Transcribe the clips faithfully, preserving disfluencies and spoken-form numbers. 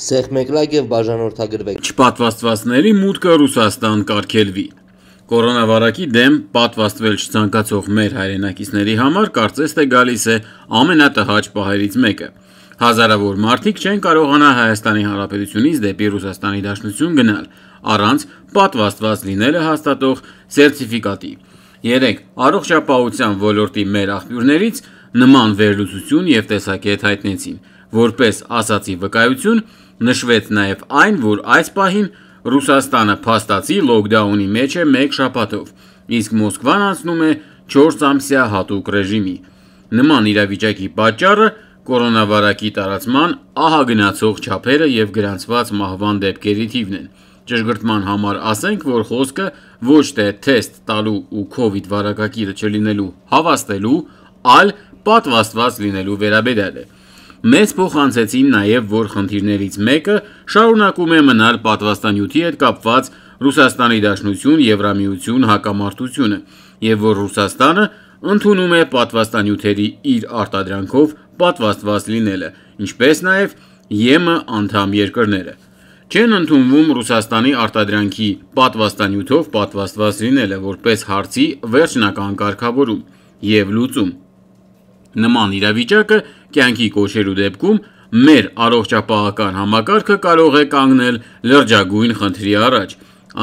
Սեղմեկլակ եւ բաժանորդագրվեք։ Չպատվաստվածների մուտքը Ռուսաստան կարգելվի։ Կորոնավարակի դեմ պատվաստվել չցանկացող մեր հայրենակիցների համար կարծես թե գալիս է ամենատհաճ պահերից մեկը։ Հազարավոր մարդիկ չեն կարողանա Հայաստանի Հանրապետությունից դեպի Ռուսաստանի Դաշնություն գնալ առանց պատվաստված լինելը հաստատող սերտիֆիկատի։ Երեք առողջապահության ոլորտի մեր աղբյուրներից նման վերլուծություն եւ տեսակետ հայտնեցին, որպես ասացի վկայություն նշվեց նաեւ այն, որ այս պահին Ռուսաստանը փաստացի լոկդաունի մեջ է մեկ շաբաթով, իսկ Մոսկվան անցնում է չորս ամսյա հատուկ ռեժիմի։ Նման իրավիճակի պատճառը կորոնավարակի տարածման ահագնացող չափերը եւ գրանցված մահվան դեպքերի թիվն են։ Ճշգրտման համար ասենք, որ խոսքը ոչ թե թեստ տալու ու կովիդ վարակագիրը չլինելու հավաստելու, այլ պատվաստված լինելու վերաբերյալ է։ Մեզ փոխանցեցին նաև, որ խնդիրներից մեկը շարունակում է մնալ պատվաստանյութի հետ կապված Ռուսաստանի Դաշնություն Եվրամիություն հակամարտությունը, եւ որ Ռուսաստանը ընդունում է պատվաստանյութերի իր արտադրանքով պատվաստված լինելը, ինչպես նաև ԵՄ անդամ երկրները։ Չեն ընդունվում Ռուսաստանի արտադրանքի պատվաստանյութով պատվաստված լինելը որպես հարցի վերջնական կարգավորում եւ լուծում։ Նման իրավիճակը կյանքի կոչելու դեպքում մեր առողջապահական համակարգը կարող է կանգնել լրջագույն խնդրի առաջ։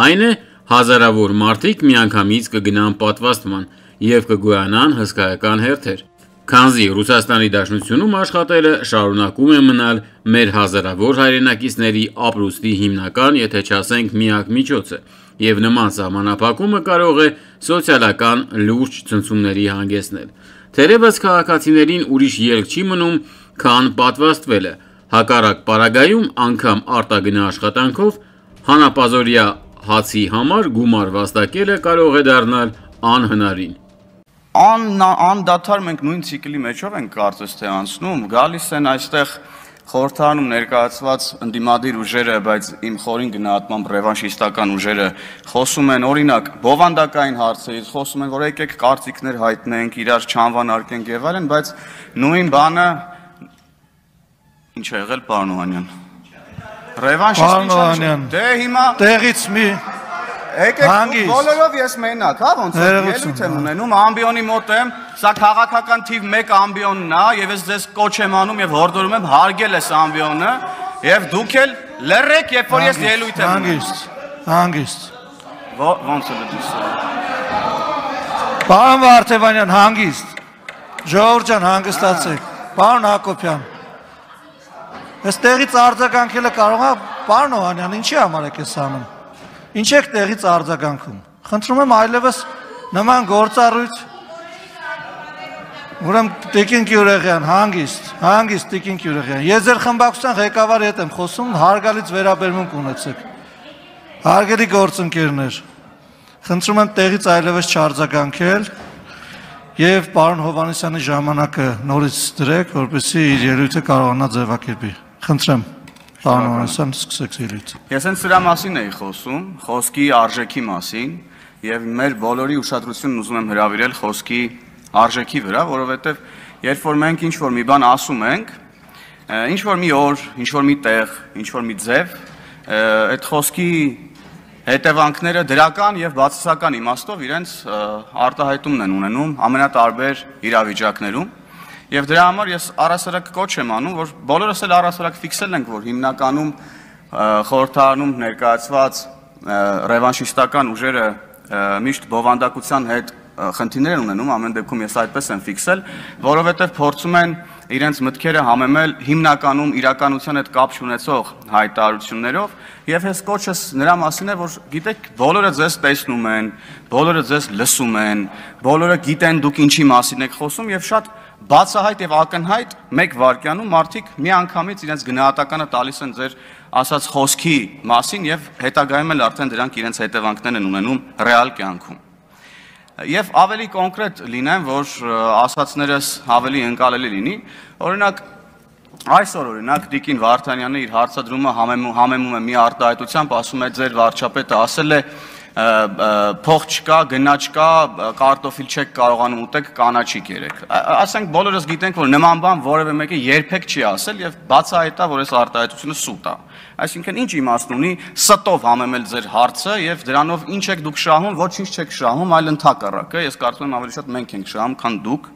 Այն է, հազարավոր մարդիկ միանգամից կգնան պատվաստման եւ կգոյանան հսկայական հերթեր։ Քանզի Ռուսաստանի Դաշնությունում աշխատելը շարունակում է մնալ մեր հազարավոր հայրենակիցների ապրուստի հիմնական, եթե չասենք միակ միջոցը, եւ նման սահմանափակումը կարող է սոցիալական լուրջ ցնցումների հանգեցնել։ Թերևս քաղաքացիներին ուրիշ ելք չի մնում, քան պատվաստվելը, հակառակ պարագայում անգամ արտագնա աշխատանքով հանապազորյա հացի համար գումար վաստակելը կարող է դառնալ անհնարին։ Անդադար մենք նույն ցիկլի մեջով ենք կարծես թե անցնում, գալիս են այստեղ խորհրդանում ներկայացված ընդդիմադիր ուժերը, բայց իմ խորին գնահատմամբ ռևանշիստական ուժերը խոսում են օրինակ բովանդակային հարցերից, խոսում են, որ եկեք կարծիքներ հայտնենք, իրար չանվանարկենք եւ այլն, բայց նույն բանը ինչ է եղել, պարոն Օհանյան։ Ռևանշիստի դե հիմա տեղից մի եկեք բոլորով ես մենակ, հա, ոնց է ելույթ եմ ունենում, ամբիոնի մոտ եմ, սա քաղաքական թիվ մեկ ամբիոնն է եւ ես ձեզ կոչ եմ անում եւ հորդորում եմ հարգել այս ամբիոնը եւ դուք էլ լռեք, երբ որ ես ելույթ եմ ունենում։ Հանգիստ, հանգիստ։ Ոնց է դուք։ Պարոն Վարդևանյան, հանգիստ։ Ժողովուրդ ջան, հանգստացեք։ Պարոն Հակոբյան։ Այստեղից արձագանքելը կարող է, պարոն Օհանյան, ինչի համար եք ես անում։ Ինչ եք տեղից արձագանքում։ Խնդրում եմ այլևս նման գործառույթ։ Ուրեմն Տիկին Գյուրեղյան, հանգիստ, հանգիստ Տիկին Գյուրեղյան։ Ես ձեր խմբակցության ղեկավարի հետ եմ խոսում, հարգալից վերաբերմունք ունեցեք։ Հարգելի գործընկերներ, խնդրում եմ տեղից այլևս չարձագանքել եւ պարոն Հովհաննիսյանի ժամանակը նորից դրեք, որպեսզի իր ելույթը կարողանա ձևակերպի։ Խնդրեմ։ Պարոն Հովհաննիսյան, սկսեք ելույթը։ Ես հենց սրա մասին էի խոսում, խոսքի արժեքի մասին եւ մեր բոլորի ուշադրությունն ուզում եմ հրավիրել խոսքի արժեքի վրա, որովհետեւ երբ որ մենք ինչ որ մի բան ասում ենք, ինչ որ մի օր, ինչ որ մի տեղ, ինչ որ մի ձև, այդ խոսքի հետևանքները դրական եւ բացասական իմաստով իրենց արտահայտումն են ունենում ամենատարբեր իրավիճակներում եւ դրա համար ես առասարակ կոչ եմ անում, որ բոլորս էլ առասարակ ֆիքսել ենք, որ հիմնականում խորհրդարանում ներկայացված ռևանշիստական ուժերը միշտ բովանդակության հետ խնդիրներ են ունենում, ամեն դեպքում ես այդպես եմ ֆիքսել, որովհետեւ փորձում են իրենց մտքերը համեմել հիմնականում իրականության հետ կապ չունեցող հայտարարություններով եւ ես կոչս նրա մասին է, որ գիտեք, բոլորը ձեզ տեսնում են, բոլորը ձեզ լսում են, բոլորը գիտեն դուք ինչի մասին եք խոսում եւ շատ բացահայտ եւ ակնհայտ մեկ վայրկյանում մարդիկ միանգամից իրենց գնահատականը տալիս են ձեր ասած խոսքի մասին եւ հետագայում էլ արդեն դրանք իրենց հետևանքներն են ունենում ռեալ կյանքում։ Եվ ավելի կոնկրետ լինեմ, որ ասացներս ավելի ընկալելի լինի, օրինակ այսօր օրինակ Տիկին Վարդանյանը իր հարցադրումը համեմում է մի արտահայտությամբ, ասում է ձեր վարչապետը ասել է փող չկա, գնա չկա, կարտոֆիլ չեք կարողանում ուտեք, կանաչիկ երեք։ Ասենք բոլորս գիտենք, որ նման բան որևէ մեկը երբեք չի ասել եւ բացահայտ է, որ այս արտահայտությունը սուտ է։ Այսինքն ինչ իմաստ ունի ստով համեմել ձեր հարցը եւ դրանով ինչ եք դուք շահում, ոչինչ չեք շահում, այլ ընդհակառակը, ես կարծում եմ ավելի շատ մենք ենք շահում, քան դուք։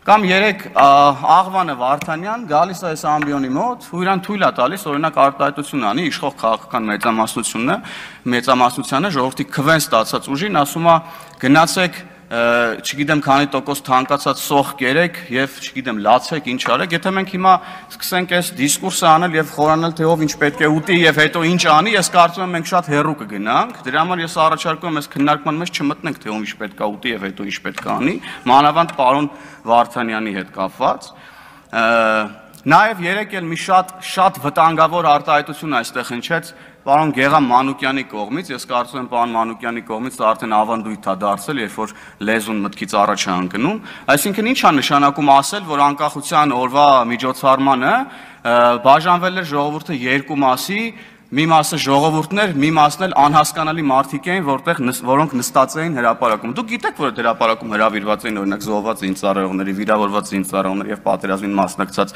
Կամ երեք Աղվանը Վարդանյան գալիս է այս ամբիոնի մոտ ու իրան թույլ է տալիս օրինակ արտահայտություն անի իշխող քաղաքական մեծամասնությունը, մեծամասնությանը ժողովրդի քվեն ստացած ուժին ասում է գնացեք, չգիտեմ քանի տոկոս թանկացած սոխ կերեք եւ չգիտեմ լացեք ինչ արեք, եթե մենք հիմա սկսենք այս դիսկուրսը անել եւ խորանալ թե ով ինչ պետք է ուտի եւ հետո ինչ անի, ես կարծում եմ մենք շատ հեռու կգնանք, դրա համար ես առաջարկում եմ այս քննարկման մեջ չմտնենք թե ով ինչ պետք է ուտի եւ հետո ինչ պետք է անի, մանավանդ պարոն Վարդանյանի հետ կապված։ Նաեւ երեք էլ մի շատ շատ վտանգավոր արտահայտություն այստեղ հնչեց պարոն Գեգամ Մանուկյանի կողմից, ես կարծում եմ պարոն Մանուկյանի կողմից արդեն ավանդույթ է դարձել, երբ որ լեզուն մտքից առաջ է ընկնում, այսինքն ինչ է նշանակում ասել, որ անկախության օրվա միջոցառմանը բաժանվել էր ժողովուրդը երկու մասի, մի մասը ժողովուրդն էր, մի մասն էլ անհասկանալի մարդիկ էին, որտեղ որոնք նստած էին հրապարակում։ Դուք գիտեք, որ այդ հրապարակում հրավիրված էին օրինակ զոհված զինծառայողների, վիրավորված զինծառայողների եւ պատերազմին մասնակցած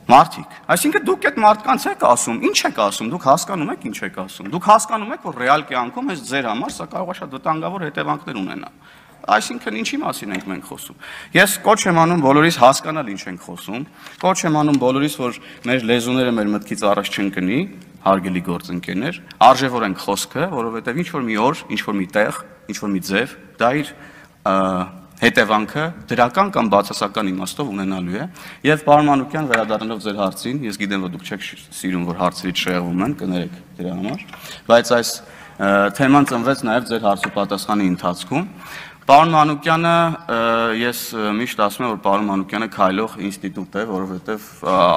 մարդիկ։ Այսինքն դուք այդ մարդկանց եք ասում, ինչ եք ասում, դուք հասկանում եք ինչ եք ասում։ Դուք հասկանում եք, որ ռեալ կյանքում այս ձեր համար սա կարող է շատ վտանգավոր հետևանքներ ունենա։ Այսինքն ինչի մասին ենք մենք խոսում։ Ես կոչ եմ անում բոլորիս հասկանալ ինչ ենք խոսում, կոչ եմ անում բոլորիս, որ մեր լեզուները մեր մտքից առաջ չընկնի, հարգելի գործընկերներ, արժևորենք խոսքը, որովհետև ինչ որ մի օր, ինչ որ մի տեղ, ինչ որ մի ձև, դա իր հետևանքը դրական կամ բացասական իմաստով ունենալու է։ Եվ պարոն Մանուկյան, վերադառնալով ձեր հարցին, ես գիտեմ, որ դուք չեք սիրում, որ հարցերից շեղվում են, կներեք դրա համար, բայց այս թեման ծնվեց նաև ձեր հարցու պատասխանի ընթացքում։ Պարոն Մանուկյանը, ես միշտ ասում եմ, որ պարոն Մանուկյանը քայլող ինստիտուտ է, որովհետև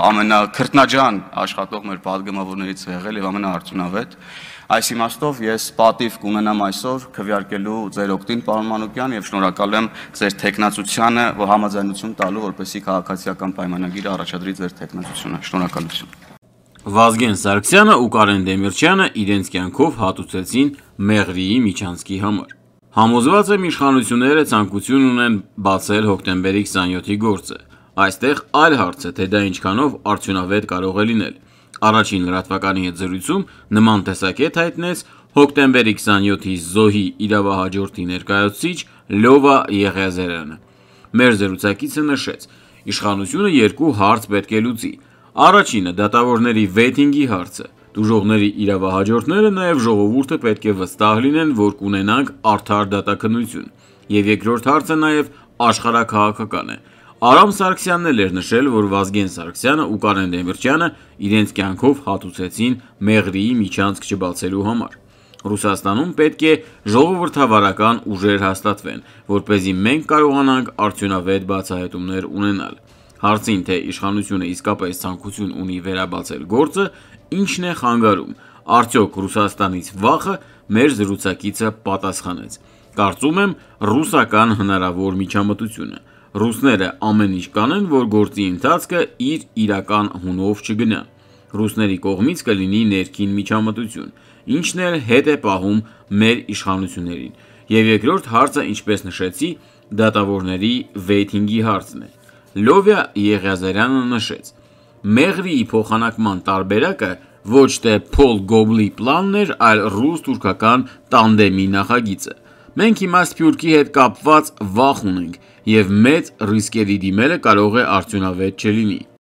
ամենաքրտնաջան աշխատող մեր պատգամավորներից է եղել եւ ամենաարդյունավետ։ Այս իմաստով ես պատիվ կունենամ այսօր քվեարկելու ձեր օգտին, պարոն Մանուկյան, եւ շնորհակալ եմ ձեր թեկնածությանը, որ համաձայնություն տալու, որպեսզի քաղաքացիական պայմանագիրը առաջադրի ձեր թեկնածությունը։ Շնորհակալություն։ Վազգեն Սարգսյանը ու Կարեն Դեմիրճյանը իրենց կյանքով հատուցեցին Մեղրիի միջանցքի համար։ Համոզված եմ իշխանությունները ցանկություն ունեն բացել հոկտեմբերի քսաներկուի գործը։ Այստեղ այլ հարց է, թե դա ինչքանով արդյունավետ կարող է լինել։ Առաջին լրատվականի հետ զրույցում նման տեսակետ հայտնեց հոկտեմբերի քսաներկուի զոհի իրավահաջորդի ներկայացուցիչ Լովա Եղիազարյանը։ Մեր զրուցակիցը նշեց, իշխանությունը երկու հարց պետք է լուծի։ Առաջինը դատավորների վեյթինգի հարցը։ Դժողների իրավահաջորդները նաև ժողովուրդը պետք է վստահ լինեն, որ կունենանք արդար դատաքննություն։ Եվ երկրորդ հարցը նաև աշխարհաքաղաքական է։ Արամ Սարգսյանն էլ էր նշել, որ Վազգեն Սարգսյանը ու Կարեն Դեմիրճյանը իրենց կյանքով հատուցեցին Մեղրիի միջանցք չբացելու համար։ Ռուսաստանում պետք է ժողովրդավարական ուժեր հաստատվեն, որպեսզի մենք կարողանանք արդյունավետ բացահայտումներ ունենալ։ Հարցին, թե իշխանությունը իսկապես ցանկություն ունի վերաբացել գործը, ինչն է խանգարում, արդյոք Ռուսաստանից վախը, մեր զրուցակիցը պատասխանեց. Կարծում եմ ռուսական հնարավոր միջամտությունը։ Ռուսները ամեն ինչ կանեն, որ գործի ընթացքը իր իրական հունով չգնա։ Ռուսների կողմից կլինի ներքին միջամտություն, ինչն էլ հետ է պահում մեր իշխանություններին։ Եվ երկրորդ հարցը, ինչպես նշեցի, դատավորների վեյթինգի հարցն է։ Լովա Եղիազարյանը նշեց. Մեղրիի փոխանակման տարբերակը ոչ թե Փոլ Գոբլի պլանն էր, այլ ռուս-թուրքական տանդեմի նախագիծը։ Մենք հիմա Սփյուռքի հետ կապված վախ ունենք, եւ մեծ ռիսկերի դիմելը կարող է արդյունավետ չլինի։